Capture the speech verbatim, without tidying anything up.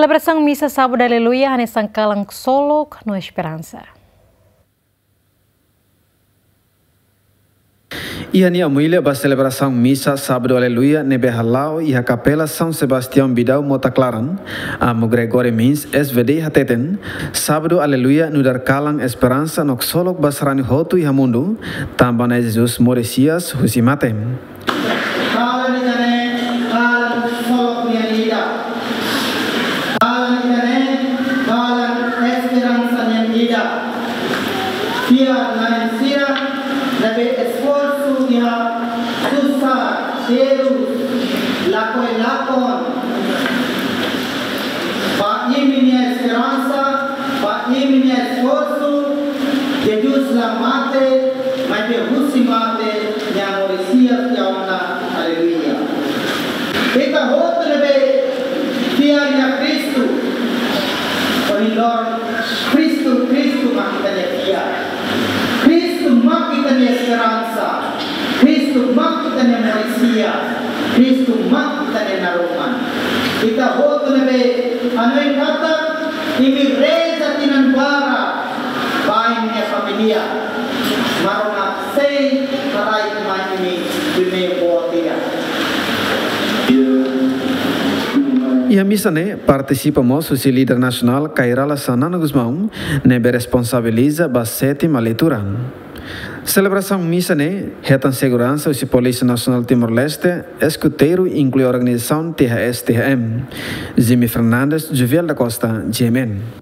Selebrasaun misa Sábadu Aleluia hanesan kalan ksolok no esperansa. Iha nia omilia ba selebrasaun misa Sábadu Aleluia ne'ebé hala'o iha Kapela São Sebastião Bidau Mota Klaran, Amu Gregory Mins, S V D, hateten, Sábadu Aleluia nu'udar kalan esperansa no ksolok ba sarani hotu iha mundu, tanba Na'i Jesus moris hi'as husi mate. Kalan ida-ne'e kalan ksolok nian ida. Kalan ida-ne'e kalan esperansa nian ida. Fiar na'in sira ne'ebé esforsu iha susar, terus, lakohi lakon. Ba imi-nia esperansa, ba imi-nia esforsu, Jesus la mate, maibé husi mate, Nia moris hi'as tiha ona, aleluia. Ita hotu ne'ebé fiar iha Kristu, ohin loron Kristu, Kristu mak ita-nia fiar. Kristu mak ita-nia esperansa. Kristu mak ita-nia moris hi'as. Kristu mak ita-nia naroman. Ita hotu ne'ebé hanoin katak imi reza tinan barak ba imi-nia família. Maromak sei haraik mai imi bimein boot ida. Iha misa ne'e partisipa mós husi líder nasionál Kay Rala Xanana Gusmão, ne'ebé responsabiliza ba sétima leitura. Selebrasaun misa ne'e hetan seguransa husi Polísia Nasionál Timor-Leste, eskuteiru inklui organizasaun T H S T H M. Jimmy Fernandes, Juviel da Costa, G M N.